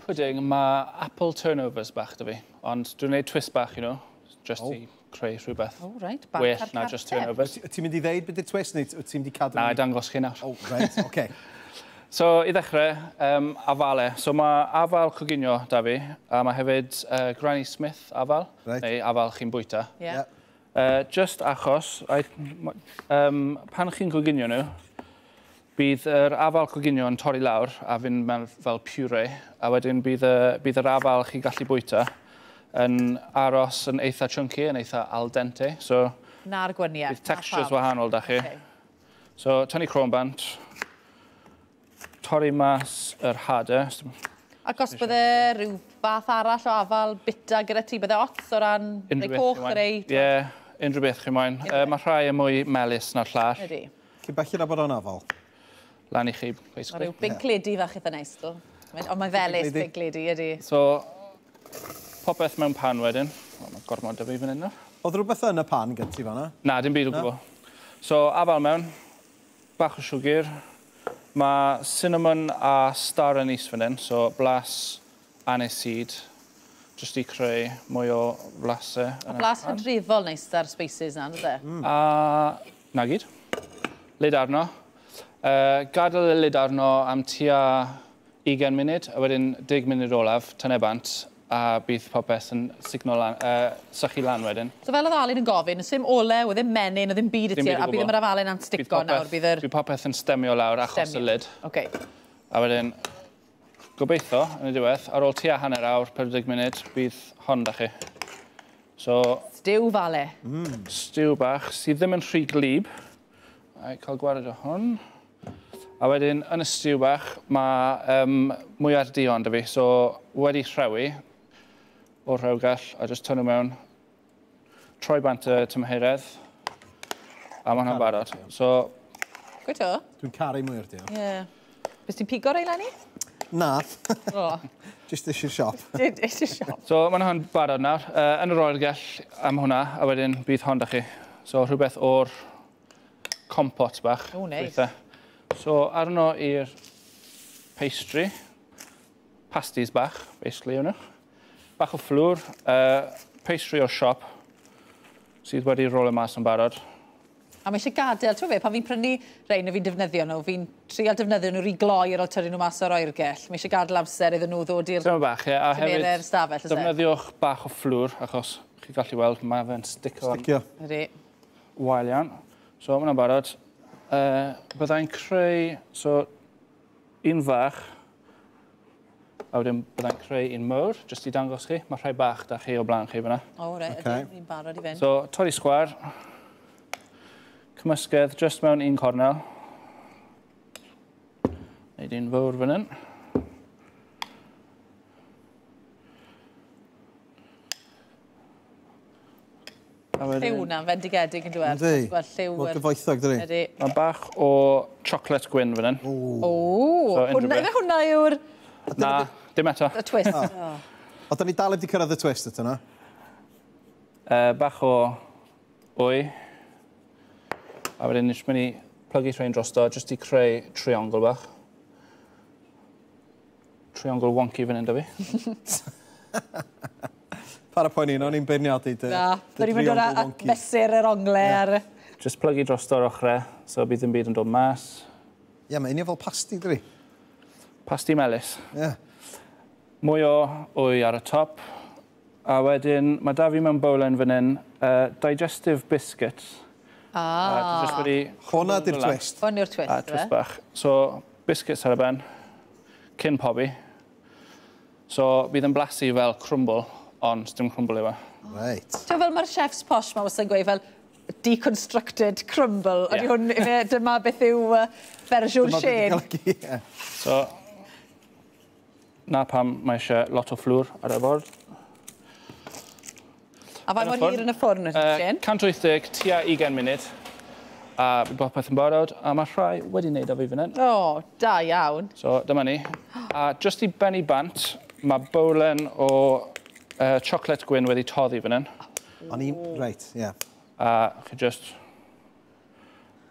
pudding, mae apple turnovers bach 'da fi, ond dwi'n gwneud twist bach, just i creu rhywbeth Oh, right. Bach well ar na just carteb. turnovers. Ti'n mynd i ddeud beth yw'r twist, neu ti'n mynd i cadw... Na, i dangos chi nawr. Oh, right, oce. Okay. So, i ddechrau, afale. So, mae afal coginio da fi, a mae hefyd Granny Smith afal, neu afal chi'n bwyta. Just achos, pan chi'n coginio nhw, bydd yr afal coginio yn torri lawr a fynd mewn fel puree, a wedyn bydd yr afal chi'n gallu bwyta yn aros yn eitha chunky, yn eitha al dente. So, Na'r gwaniaeth. Bydd textures wahanol da chi. So, tynnu croen bant, torri mas yr hadau. Ac os bydde rhyw fath arall o afal bita gyda ti, bydde ots o ran Unrhyw rei beth coch, chi moyn. rei... Ie, unrhyw beth chi moyn. Mae rhai yn mwy melys na'r llall. Ydy. Cyn belled â bod o'n afal. Lan i chi, basically. Mae rhyw Pink Lady fach eitha neis, dw. Ond mae'n felys, Pink Lady, ydy. So, popeth mewn pan wedyn. O, mae gormod da fi fan hyn nawr. Oedd rhywbeth yn y pan gen ti fan'na? Na, dim byd o gwbl. So, afal mewn, bach o siwgr. Mae cinnamon a star anise fan hyn, so blas aniseed, jyst i creu mwy o flasau. A blas hydrefol neis da'r spices na, ynddo? A na gyd. Lid arno. Gadael y lid arno am tua 20 munud, a wedyn 10 munud olaf, tynnu bant, a bydd popeth yn sugno lan, sychu lan wedyn. So fel oedd Alun yn gofyn, sim olew, ddim menyn, ddim byd i Dim ti, byd o a bydd gwbl. ddim yr afalen am stico nawr, bydd yr... Bydd popeth yn stemio lawr achos y Stemio. lid. Okay. A wedyn, gobeithio, yn y diwedd, ar ôl tua hanner awr, 40 munud, bydd hon da chi. So, Stew fale. Stew bach, sydd ddim yn rhy glib. A cael gwared o hwn. A wedyn, yn y stew bach, mae mwyar duon da fi, so wedi rhewi o'r rhewgell, a just tynnu mewn, troi bant y tymheredd, a mae hwnna'n barod. So, Gwyto? Dwi'n caru mwyar duon. Ie. Bys ti'n pigo rei, Lenny? Na. O. Just eisiau'r siop. Eisiau siop. So, mae hwnna'n barod nawr. Yn yr oergell am hwnna, a wedyn bydd hon da chi. So, rhywbeth o'r compot bach. O, neis. Gweitha. So, arno i'r pastry, pasties bach, basically, yw nhw. Bach o fflwr, pastry o'r siop, sydd wedi rolio mas yn barod. A mae eisiau gadael, ti'n fe, pan fi'n prynu rhein a fi'n defnyddio nhw, fi'n trial defnyddio nhw rhy gloi ar ôl tyrru nhw mas o'r oergell. Mae eisiau gadael amser iddyn nhw ddod i'r Dyma bach, ie. A hefyd, tymerau'r stafell, oes e? defnyddiwch bach o fflwr, achos chi'n gallu weld, mae fe'n stico yn Sticio. Ydy. wael iawn. So, mae hwnna'n barod. Byddai'n creu, so, un fach, a wedyn byddai'n creu un mawr, jyst i dangos chi. Mae rhai bach da chi o blaen chi fyna. O, reit, Ocê. ydw, fi'n barod i fynd. So, torri sgwâr, cymysgedd jyst mewn un cornel. Neud un fawr fan hyn. A wedyn- Lliw na'n fendigedig yn dweud. Yndi. Wel, lliw... Mor gyfoethog, dydi? Ydy. Mae bach o chocolate gwyn fan hyn. O, So, unrhyw hwnna, beth. ife hwnna yw'r Na, dim eto. y twist. O. O, da ni dal heb di cyrraedd y twist eto, na? Bach o wy. A wedyn ni'n mynd i plygu rhain drosto, jyst i creu triongl bach. Triongl wonky fan hyn, da fi. Para poeni, o'n i'n beirniadu dy... Na, dy da ni'n mynd o'r triongl wonky. mesur yr ongle ar... Just plygu drosto'r ochrau, so bydd ddim byd yn dod mas. Ie, mae union fel pasti, dydi? Pasti melys. Ie. Mwy o wy ar y top. A wedyn, mae da fi mewn bowlen fan hyn, digestive biscuits. Ah. A dwi jyst wedi... Hwna di'r twist. Hwn yw'r twist, A twist bach. So, biscuits ar y ben, cyn pobi. So, bydd yn blasu fel crumble, ond dim crumble yw e. Reit. Ti'n fel mae'r chefs posh ma wastad yn gweud fel deconstructed crumble. Ydy Ie. hwn, ife, dyma beth yw fersiwn Dyma beth Shane. i'n golygu, ie. So, na pam mae eisiau lot o fflwr ar y ford. A faint Yn y mor hir ffwrn. yn y ffwrn ydy, Shane? 180, tua 20 munud. A bydd popeth yn barod, a mae rhai wedi wneud o fi fan hyn. O, da iawn. So, dyma ni. A jyst i bennu bant, mae bowlen o chocolate gwyn wedi toddi fan hyn. O'n i'n... Reit, ie. A chi just...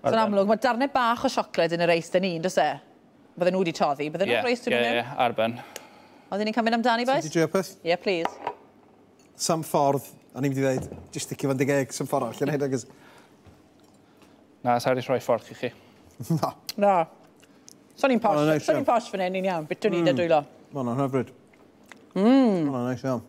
So yn amlwg, mae darnau bach o siocled yn y reis dyn ni, does e? Bydden nhw wedi toddi, bydden nhw'n reis dyn nhw Ie, ddim? ie, ar ben. Oedden ni'n cael mynd amdani, boys? Ti drio peth? Yeah, please. Sam ffordd, o'n i'n mynd i ddweud, just sticio fo'n dy geg, sam ffordd allan hyn, agos. Na, sa wedi rhoi ffordd i chi. Na. Na. So ni'n posh, Hwnna'n neis so ni'n iawn. posh fan hyn, ni'n iawn. Bitwn ni da dwylo. Ma' hwnna'n hyfryd. Ma' hwnna'n neis iawn.